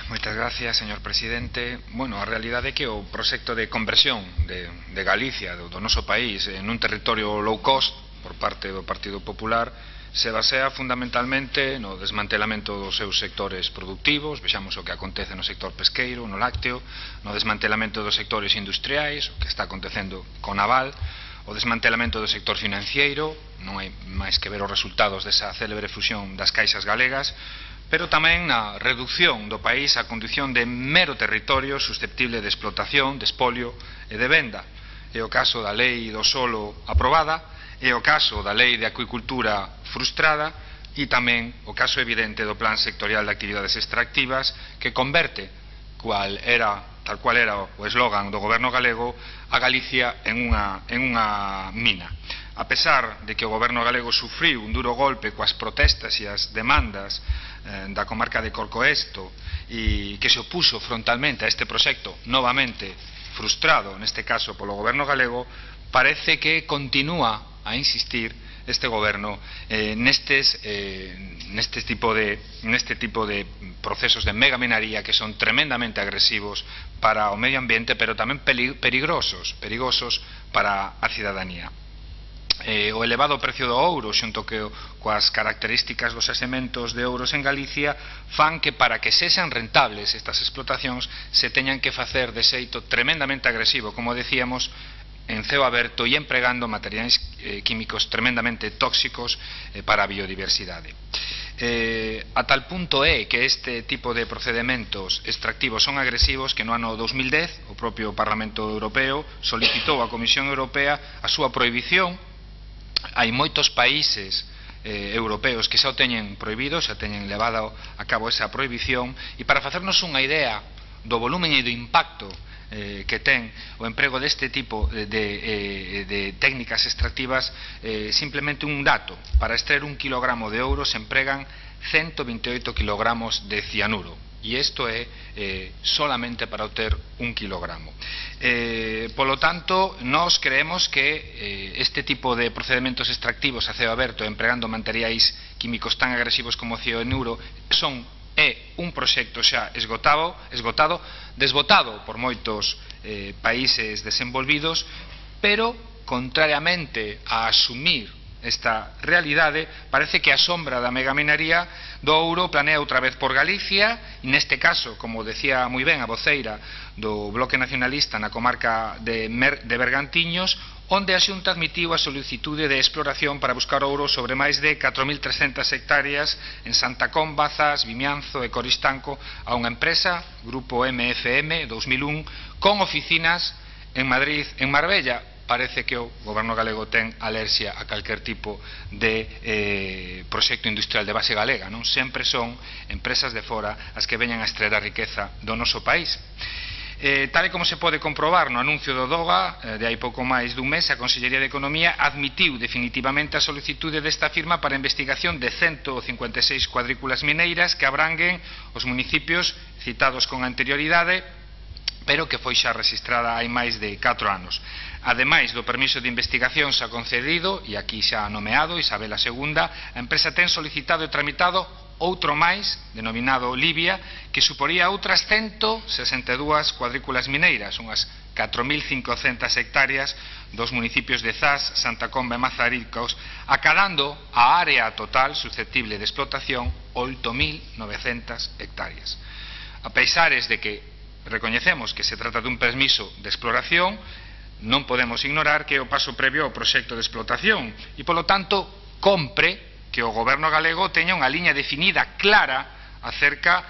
Moitas gracias, señor presidente. Bueno, a realidade é que o proxecto de conversión de Galicia, do noso país, nun territorio low cost, por parte do Partido Popular, se basea fundamentalmente no desmantelamento dos seus sectores productivos. Vexamos o que acontece no sector pesqueiro, no lácteo, no desmantelamento dos sectores industriais, o que está acontecendo con Naval, o desmantelamento do sector financiero, non hai máis que ver os resultados desa célebre fusión das caixas galegas, pero tamén na reducción do país á condición de mero territorio susceptible de explotación, de espolio e de venda. É o caso da lei do solo aprobada, é o caso da lei de acuicultura frustrada e tamén o caso evidente do plan sectorial de actividades extractivas que converte, tal cual era o eslogan do goberno galego, a Galicia en unha mina. A pesar de que o goberno galego sufriu un duro golpe coas protestas e as demandas da comarca de Corcoesto e que se opuxo frontalmente a este proxecto novamente frustrado, neste caso polo goberno galego, parece que continúa a insistir este goberno neste tipo de procesos de megaminaría que son tremendamente agresivos para o medio ambiente, pero tamén perigosos para a cidadanía. O elevado precio do ouro xunto coas características dos xacementos de ouros en Galicia fan que para que sexan rentables estas explotacións se teñan que facer de xeito tremendamente agresivo, como decíamos, en ceo aberto e empregando materiais químicos tremendamente tóxicos para a biodiversidade. A tal punto é que este tipo de procedementos extractivos son agresivos que no ano 2010 o propio Parlamento Europeo solicitou á Comisión Europea a súa prohibición. Hai moitos países europeos que xa o teñen prohibido, xa teñen levado a cabo esa prohibición, e para facernos unha idea do volumen e do impacto que ten o emprego deste tipo de técnicas extractivas, simplemente un dato: para extraer 1 kilogramo de ouro se empregan 128 kilogramos de cianuro, e isto é solamente para obter 1 kilogramo. Polo tanto, nós creemos que este tipo de procedementos extractivos a ceo aberto empregando materiais químicos tan agresivos como o cianuro é un proxecto xa desbotado por moitos países desenvolvidos, pero, contrariamente a asumir esta realidade, parece que a sombra da megaminaría do ouro planea outra vez por Galicia, e neste caso, como decía moi ben a voceira do Bloque Nacionalista na comarca de Bergantiños, onde a Xunta admitiu a solicitude de exploración para buscar ouro sobre máis de 4.300 hectáreas en Santa Comba, Zas, Vimianzo e Coristanco a unha empresa, Grupo MFM 2001, con oficinas en Madrid, en Marbella. Parece que o goberno galego ten alerxia a calquer tipo de proxecto industrial de base galega, non? Sempre son empresas de fora as que veñan a extraer a riqueza do noso país. Tal e como se pode comprobar no anuncio do DOGA de hai pouco máis dun mes, a Consellería de Economía admitiu definitivamente a solicitude desta firma para a investigación de 156 cuadrículas mineiras que abranguen os municipios citados con anterioridade, pero que foi xa registrada hai máis de 4 anos. Ademais do permiso de investigación xa concedido, e aquí xa nomeado Isabel II, a empresa ten solicitado e tramitado outro máis, denominado Libia, que suporía outras 162 cuadrículas mineiras, unhas 4.500 hectáreas dos municipios de Zas, Santa Comba e Mazaricos, acadando a área total susceptible de explotación 8.900 hectáreas. A pesares de que recoñecemos que se trata dun permiso de exploración, non podemos ignorar que é o paso previo ao proxecto de explotación e, polo tanto, compre que o goberno galego teña unha liña definida clara acerca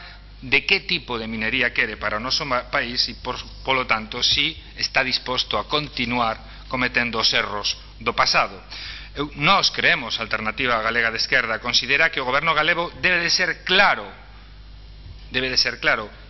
de que tipo de minería quere para o noso país e, polo tanto, si está disposto a continuar cometendo os erros do pasado. Nós creemos, a Alternativa Galega de Esquerda considera que o goberno galego debe de ser claro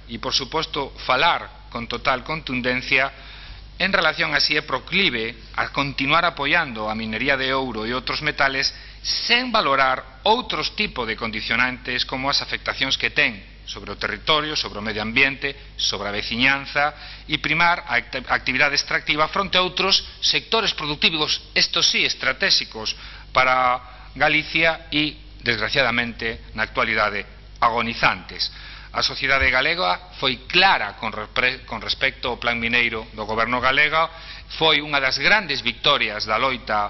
e, por suposto, falar con total contundencia en relación a si é proclive a continuar apoiando a minería de ouro e outros metales sen valorar outros tipos de condicionantes como as afectacións que ten sobre o territorio, sobre o medio ambiente, sobre a veciñanza e primar a actividade extractiva fronte a outros sectores productivos, estos sí, estratégicos para Galicia e, desgraciadamente, na actualidade, agonizantes. A sociedade galega foi clara con respecto ao plan mineiro do goberno galego, foi unha das grandes victorias da loita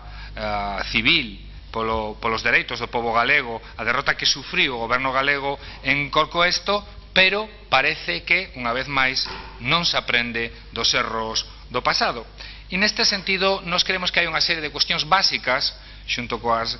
civil polos dereitos do pobo galego, a derrota que sufriu o goberno galego en Corcoesto, pero parece que, unha vez máis, non se aprende dos erros do pasado. E neste sentido, nós creemos que hai unha serie de cuestións básicas, xunto coas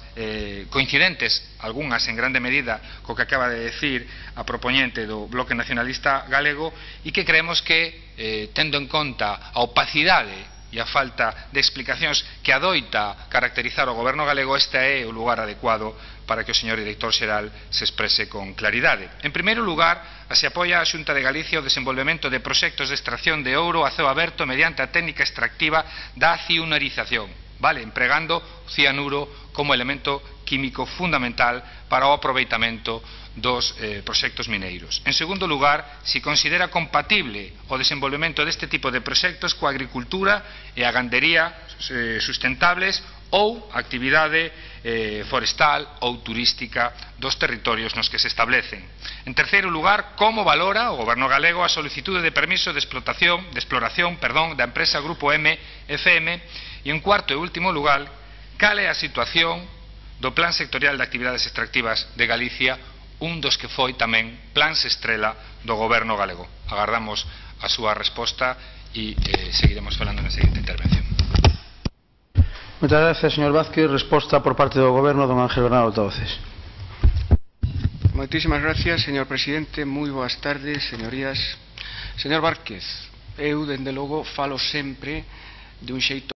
coincidentes, algunhas en grande medida co que acaba de decir a propoñente do Bloque Nacionalista Galego, e que creemos que, tendo en conta a opacidade e a falta de explicacións que adoita caracterizar o goberno galego, este é o lugar adecuado para que o señor director xeral se exprese con claridade. En primeiro lugar, se apoia a Xunta de Galicia o desenvolvemento de proxectos de extracción de ouro a ceo aberto mediante a técnica extractiva da cianurización, empregando o cianuro como elemento químico fundamental para o aproveitamento dos proxectos mineiros. En segundo lugar, se considera compatible o desenvolvemento deste tipo de proxectos coa agricultura e a gandería sustentables ou actividade forestal ou turística dos territorios nos que se establecen. En terceiro lugar, como valora o goberno galego a solicitude de permiso de exploración da empresa Grupo MFM, e en cuarto e último lugar, cal é a situación do Plan Sectorial de Actividades Extractivas de Galicia, un dos que foi tamén plans estrela do goberno galego. Agardamos a súa resposta e seguiremos falando na seguinte intervención. Moitas gracias, señor Vázquez. Resposta por parte do goberno, don Ángel Bernal Altavoces. Moitísimas gracias, señor presidente. Moi boas tardes, señorías. Señor Vázquez, eu, dende logo, falo sempre de un xeito